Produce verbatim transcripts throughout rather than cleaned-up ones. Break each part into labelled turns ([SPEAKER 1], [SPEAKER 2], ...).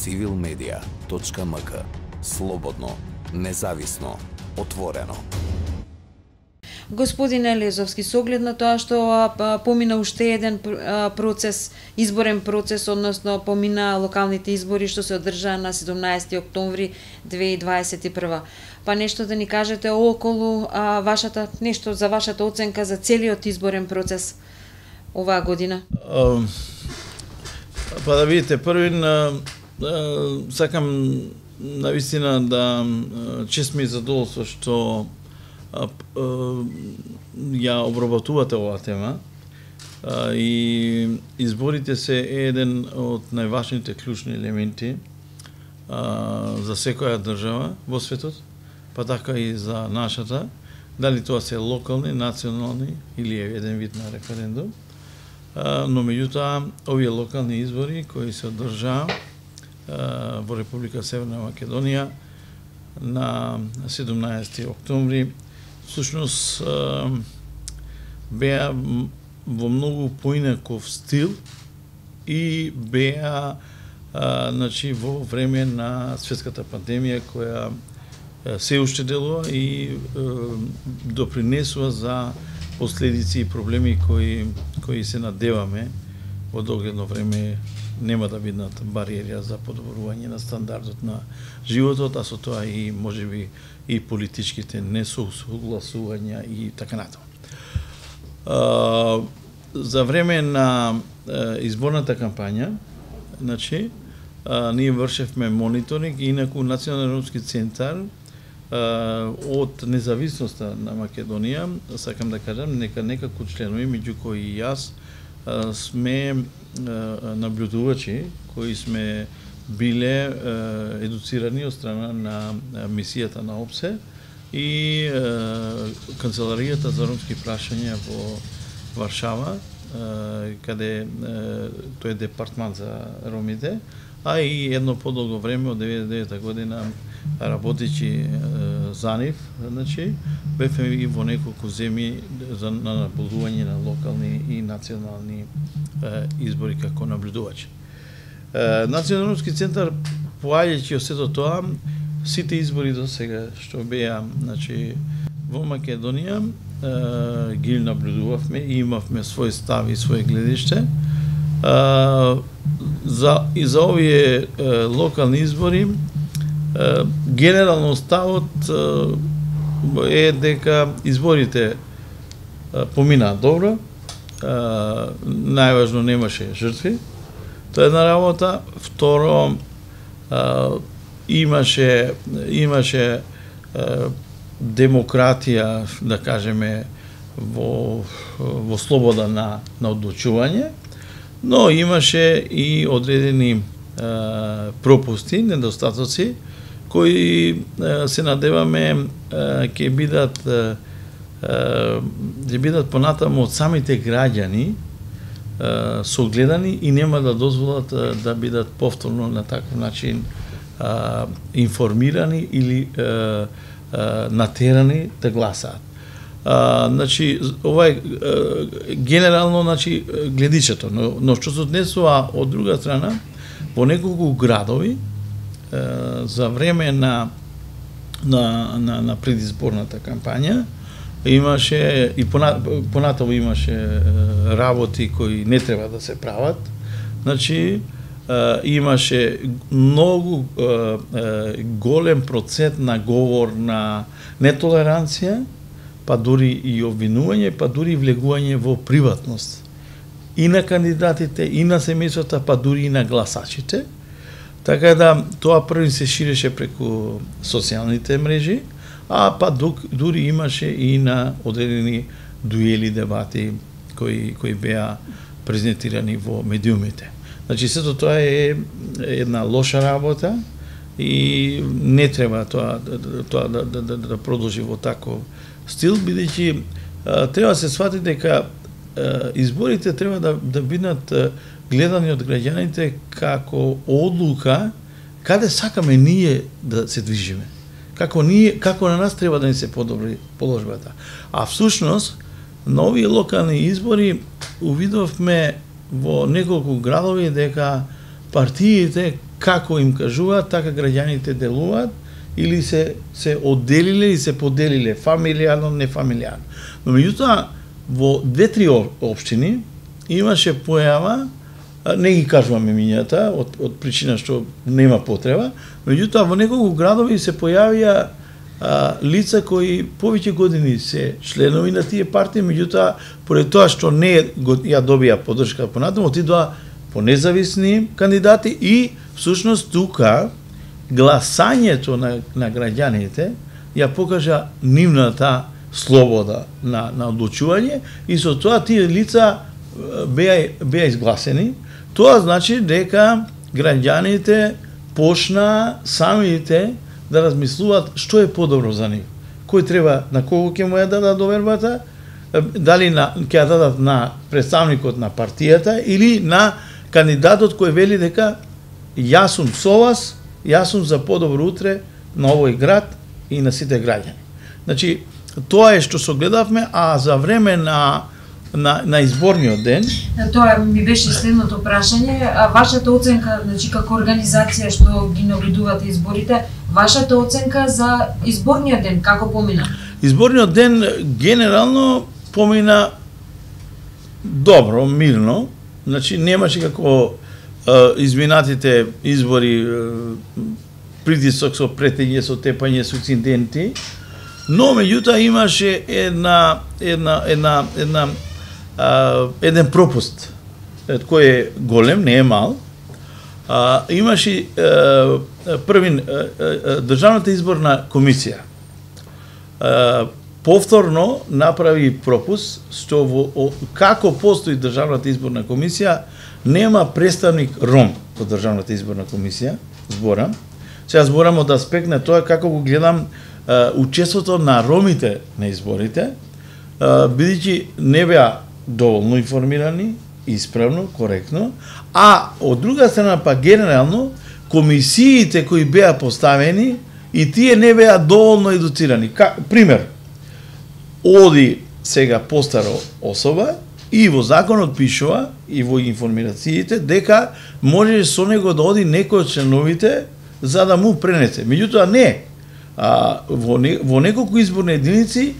[SPEAKER 1] цивил медија точка ем ка. Слободно, независно, отворено.
[SPEAKER 2] Господине Лезовски, со оглед на тоа што а, помина уште еден а, процес, изборен процес, односно помина локалните избори што се одржаа на седумнаесети октомври две илјади дваесет и прва. Па нешто да ни кажете околу а, вашата, нешто за вашата оценка за целиот изборен процес оваа година?
[SPEAKER 3] Uh, па да видите, првин uh, uh, сакам навистина да uh, чест ми задоволство што Uh, uh, ја обработувате оваа тема uh, и изборите се еден од најважните клучни елементи uh, за секоја држава во светот, па така и за нашата, дали тоа се локални, национални или е еден вид на референдум, uh, но меѓутоа овие локални избори кои се одржаа uh, во Република Северна Македонија на седумнаесети октомври всушност беа во многу поинаков стил и беа значи во време на светската пандемија која се уште делува и допринесува за последици и проблеми кои кои се надеваме во догледно време нема да бидат бариери за подобрување на стандардот на животот, а со тоа и можеби и политичките несогласувања и така натаму. За време на изборната кампања, значи, ние вршевме мониторинг, инаку Национален ромски центар од независноста на Македонија, сакам да кажам, нека некако членови, меѓу кои и јас, сме наблюдувачи кои сме биле едуцирани од страна на мисијата на ОПСЕ и Канцеларијата за ромски прашања во Варшава, каде тој е департман за ромите, а и едно подолго време од деветдесет и девета година работечи за нив, значи бевме и во неколку земји за на наблюдување на локални и национални избори како наблюдувачи. Национален ромски центар, поаѓајќи од сето тоа, сите избори до сега што беа, значи, во Македонија, ги наблюдувавме и имавме свој став и свој гледиште. За и за овие локални избори генерално ставот е дека изборите поминаа добро, најважно немаше жртви. Тоа е една работа. Второ, имаше имаше демократија, да кажеме, во во слобода на на одлучување, но имаше и одредени пропусти, недостатоци кои се надеваме ќе бидат ќе бидат понатаму од самите граѓани согледани и нема да дозволат да бидат повторно на таков начин информирани или натерани да гласаат. Значи, ова е генерално, значи, гледичето, но, но што се однесува од друга страна, во неколку градови за време на на на, на предизборната кампања имаше и понатаму имаше работи кои не треба да се прават. Значи имаше многу голем процент на говор на нетолеранција, па дури и обвинување, па дури и влегување во приватност и на кандидатите, и на семејствата, па дури и на гласачите. Така да тоа први се ширеше преку социјалните мрежи, а па дури имаше и на одредени дуели, дебати кои кои беа презентирани во медиумите. Значи сето тоа е една лоша работа и не треба тоа тоа да да да, да продолжи во таков стил, бидејќи треба да се свати дека изборите треба да да бидат гледани од граѓаните како одлука каде сакаме ние да се движиме. Како ние како на нас треба да ни се подобри положбата. А всушност на овие локални избори увидовме во неколку градови дека партиите како им кажуваат, така граѓаните делуваат, или се се одделиле и се поделиле фамилијално, нефамилијално. Но меѓутоа во две-три општини имаше појава, не ги кажуваме имињата од од причина што нема потреба, меѓутоа во неколку градови се појавија а, лица кои повеќе години се членови на тие партии, меѓутоа поради тоа што не ја добија поддршка понатаму, отидоа по независни кандидати и всушност тука гласањето на, на граѓаните ја покажа нивната слобода на, на одлучување и со тоа тие лица беа, беа изгласени. Тоа значи дека граѓаните почна самите да размислуваат што е подобро за нив. Кој треба, на кого ќе му ја дадат довербата, дали на, ќе ја дадат на представникот на партијата или на кандидатот кој вели дека јас сум со вас, јас сум за подобро утре на овој град и на сите граѓани. Значи, тоа е што согледавме, а за време на на на изборниот ден,
[SPEAKER 2] тоа ми беше следното прашање, а вашата оценка, значи како организација што ги наблюдувате изборите, вашата оценка за изборниот ден како помина?
[SPEAKER 3] Изборниот ден генерално помина добро, мирно. Значи немаше како изминатите избори притисок со претење, со тепање, со инциденти, но меѓутоа имаше една една една една а, еден пропуст кој е голем, не е мал. А, имаше а, првин а, Државната изборна комисија а, повторно направи пропуст што во, како постои Државната изборна комисија нема представник Ром во Државната изборна комисија, зборам. Сега зборам од аспект на тоа како го гледам uh, учеството на ромите на изборите, uh, бидејќи не беа доволно информирани, исправно, коректно, а од друга страна па генерално комисиите кои беа поставени и тие не беа доволно едуцирани. Ка, пример, оди сега постара особа и во законот пишува и во информациите дека може со него да оди некој од членовите за да му пренесе. Меѓутоа не. А, во, не, во неколку изборни единици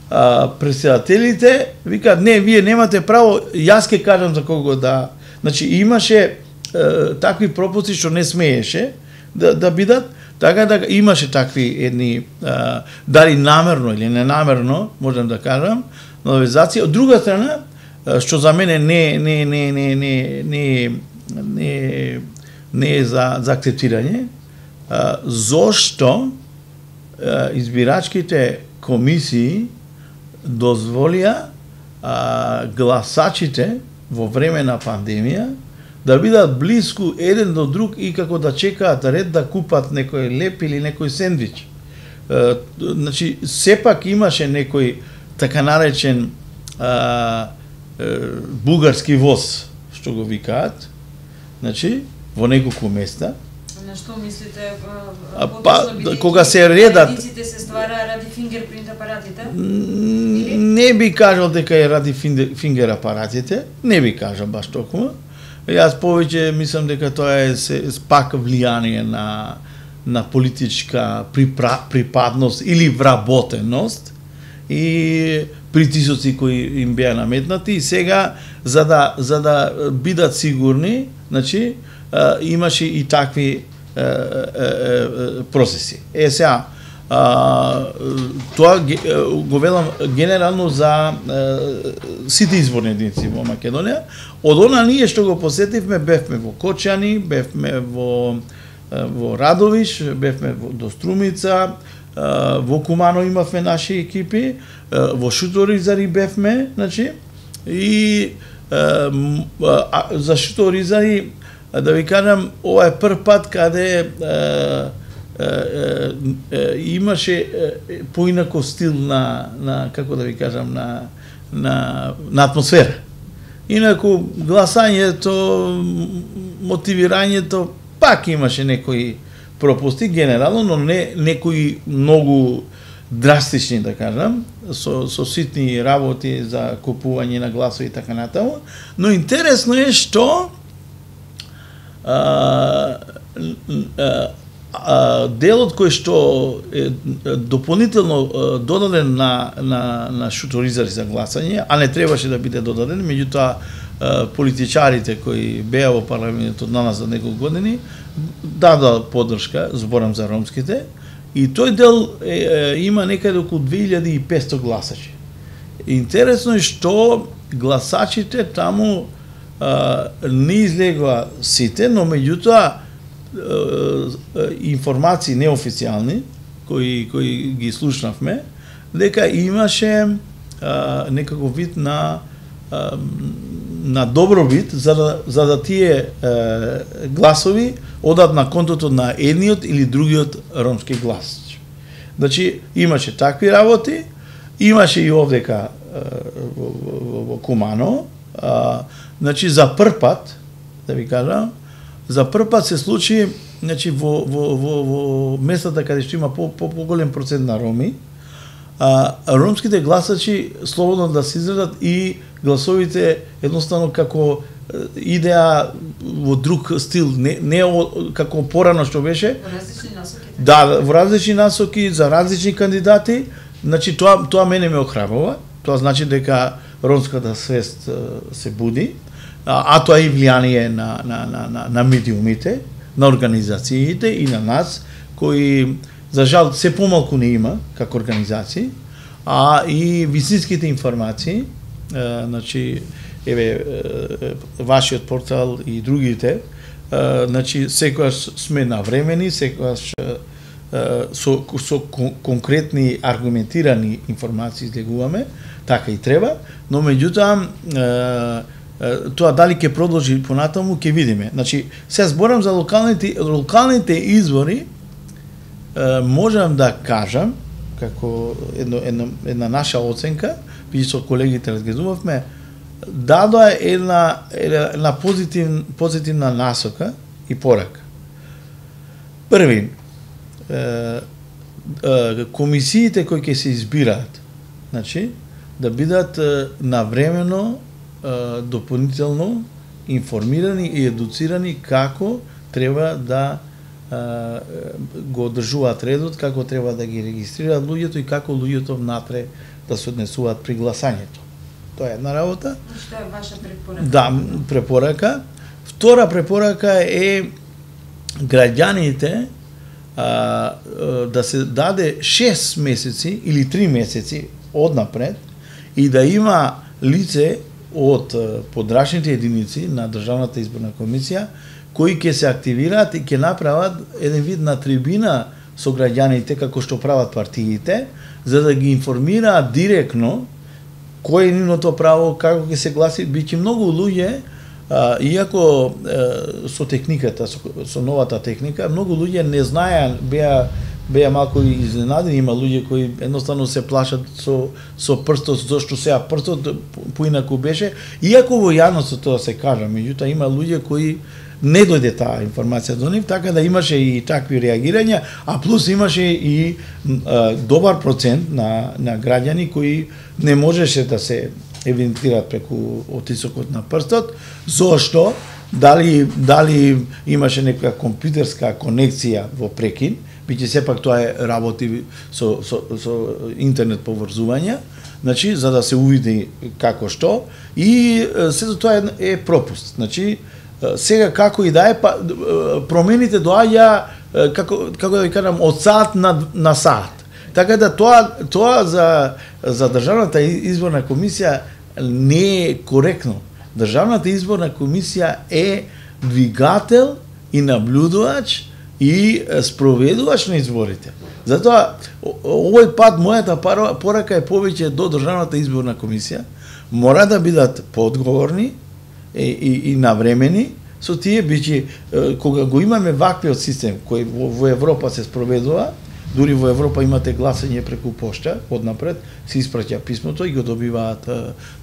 [SPEAKER 3] а, председателите викаат не, вие немате право, јас ќе кажам за кого да. Значи имаше а, такви пропусти што не смееше да, да бидат, така да имаше такви едни а, дали намерно или ненамерно, можам да кажам, навезација. Од друга страна, што за мене не не не не не не не не е за за акцептирање, зошто избирачките комисии дозволија гласачите во време на пандемија да бидат блиску еден до друг и како да чекаат ред да купат некој леп или некој сендвич. Значи сепак имаше некој така наречен а, бугарски воз, што го викаат, значи, во неколку места.
[SPEAKER 2] На што мислите?
[SPEAKER 3] А, па, кога се редат...
[SPEAKER 2] Радиците се ствара ради фингерпринт апаратите?
[SPEAKER 3] Не би кажал дека е ради фингер апаратите, не би кажал баш толкова. Јас повеќе мислам дека тоа е се, пак влијание на, на политичка припра, припадност или вработеност и притисоци кои им беа наметнати и сега за да за да бидат сигурни, значи а, имаше и такви а, а, а, процеси. Е сега а, тоа го велам генерално за а, сите изборни единици во Македонија. Од она ние што го посетивме, бевме во Кочани, бевме во во Радовиш, бевме во до Струмица, во Кумано имавме наши екипи, во Шуторизари бевме, значи, и а, а, за Шуторизари, да ви кажам, ова е прв пат каде а, а, а, а, имаше поинако стил на, на, како да ви кажам, на, на, на атмосфера. Инаку, гласањето, мотивирањето, пак имаше некои пропусти генерално, но не некои многу драстични, да кажам, со, со ситни работи за купување на гласови и така натаму. Но интересно е што а, делот кој што е дополнително додаден на на на шуторизари за гласање, а не требаше да биде додаден, меѓутоа политичарите кои беа во парламентот на нас за неколку години дадоа поддршка, зборам за ромските, и тој дел е, има некаде околу две илјади и петсто гласачи. Интересно е што гласачите таму а, не излегува сите, но меѓутоа информации неофицијални кои кои ги слушнавме, дека имаше а, некако вид на а, на добробит за да за да тие а, гласови одат на контото на едниот или другиот ромски глас. Значи имаше такви работи, имаше и овдека во, во, во Кумано, а, значи за прв пат, да ви кажам, за прв пат се случи, значи во во во во местата каде што има по по поголем процент на роми, а ромските гласачи слободно да се изразат и гласовите едноставно како идеа во друг стил, не не како порано што беше.
[SPEAKER 2] Во различни насоки.
[SPEAKER 3] Да, во различни насоки за различни кандидати, значи тоа тоа мене ме охрабрува. Тоа значи дека ромската свест се буди. А, а тоа и влијание на, на, на, на, на медиумите, на организациите и на нас, кои, за жал, се помалку не има, како организации, а и вистинските информации, е, значи, еве, е, вашиот портал и другите, е, значи, секојаш сме навремени, секојаш е, со, со конкретни, аргументирани информации излегуваме, така и треба, но меѓутоа, тоа дали ќе продолжи понатаму, ќе видиме. Значи, се зборам за локалните локалните избори, можам да кажам, како едно, едно, една наша оценка, би со колегите разгледувавме, дадоа една, една позитив, позитивна насока и порака. Први, комисиите кои ќе се избираат, значи, да бидат навремено дополнително информирани и едуцирани како треба да а, го одржуваат редот, како треба да ги регистрираат луѓето и како луѓето внатре да се однесуваат при гласањето. Тоа е една работа.
[SPEAKER 2] Што е ваша препорака?
[SPEAKER 3] Да, препорака. Втора препорака е граѓаните а, да се даде шест месеци или три месеци однапред и да има лице од подрачните единици на Државната изборна комисија кои ќе се активираат и ќе направат еден вид на трибина со граѓаните како што прават партиите, за да ги информираат директно кој е нивното право, како ќе се гласи. Биќе многу луѓе, а, иако а, со техниката, со, со новата техника, многу луѓе не знаеа, беа беа малку изненадени, има луѓе кои едноставно се плашат со со прстот, зашто сега прстот поинаку беше, иако во јавноста тоа се кажа, меѓутоа има луѓе кои не дојде таа информација до нив, така да имаше и такви реагирања, а плюс имаше и а, добар процент на на граѓани кои не можеше да се евидентираат преку отисокот на прстот, зошто дали дали имаше некоја компјутерска конекција во прекин, биќе сепак тоа е работи со, со, со интернет поврзување, значи, за да се увиди како што, и сето тоа е, е пропуст. Значи, сега како и да е, па, промените доаѓа, како, како да ви кажам, од саат на, на саат. Така да тоа, тоа за, за Државната изборна комисија не е коректно. Државната изборна комисија е двигател и наблюдувач и спроведувач на изборите. Затоа, овој пат мојата порака е повеќе до Државната изборна комисија, мора да бидат поодговорни и, и, и навремени со тие, бичи, кога го имаме ваквиот систем кој во, во Европа се спроведува, дури во Европа имате гласање преку пошта, однапред се испраќа писмото и го добиваат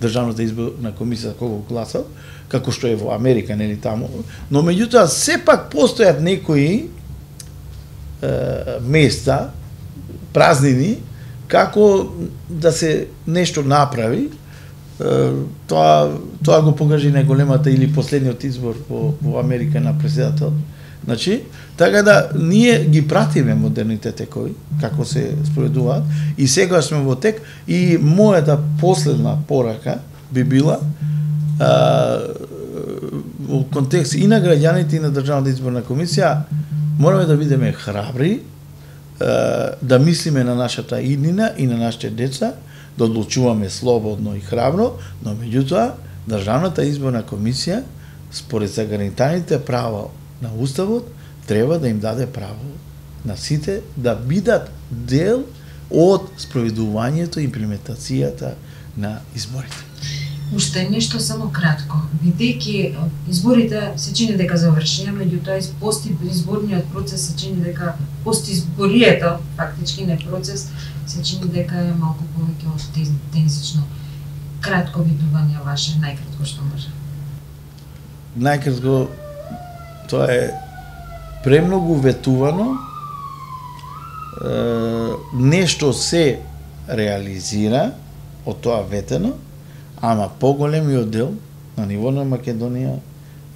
[SPEAKER 3] Државната изборна комисија кога го гласал, како што е во Америка, нели таму. Но меѓутоа сепак постојат некои места, празнини, како да се нешто направи. Тоа тоа го покажи најголемата или последниот избор во, во Америка на председател, Значи, така да ние ги пратиме модерните текови, како се спроведуваат, и сега сме во тек, и мојата последна порака би била а, во контекст и на граѓаните и на Државната изборна комисија, мораме да бидеме храбри, а, да мислиме на нашата иднина и на нашите деца, да одлучуваме слободно и храбро, но меѓутоа Државната изборна комисија според загарантираните права на Уставот треба да им даде право на сите да бидат дел од спроведувањето и имплементацијата на изборите.
[SPEAKER 2] Уште нешто само кратко. Бидејќи изборите се чини дека завршија, меѓутоа пости изборниот процес се чини дека пости изборието, фактички не процес, се чини дека е малку повеќе од тензично. Кратко видување ваше, најкратко што може.
[SPEAKER 3] Најкратко, тоа е премногу ветувано, е, нешто се реализира од тоа ветено, ама поголемиот дел на ниво на Македонија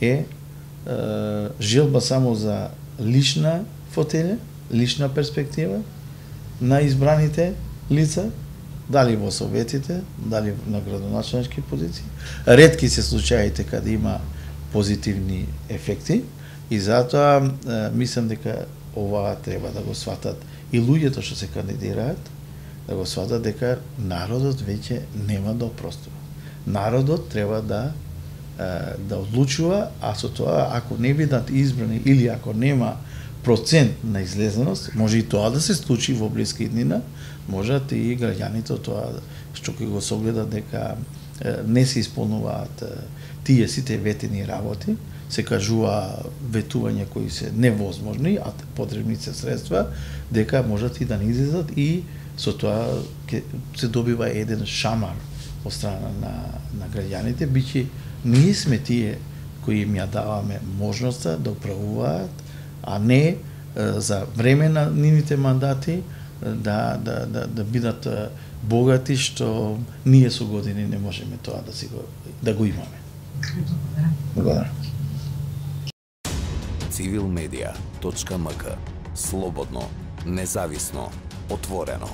[SPEAKER 3] е, е желба само за лична фотелја, лична перспектива на избраните лица, дали во советите, дали на градоначалнички позиции. Ретки се случаите каде има позитивни ефекти и затоа е, мислам дека ова треба да го сватат и луѓето што се кандидираат, да го сватат дека народот веќе нема да опростува. Народот треба да е, да одлучува, а со тоа ако не бидат избрани или ако нема процент на излезеност, може и тоа да се случи во блиска иднина, можат и граѓаните тоа што ќе го согледат дека е, не се исполнуваат е, тие сите ветени работи, се кажува ветувања кои се невозможни, а потребни се средства, дека можат и да не излезат и со тоа ке, се добива еден шамар од страна на, на граѓаните, биќе ние сме тие кои им ја даваме можноста да управуваат, а не е, за време на нивните мандати да, да, да, да бидат богати, што ние со години не можеме тоа да, си го, да го имаме. Благодарам.
[SPEAKER 1] Civilmedia точка м к. Слободно, независно, отворено.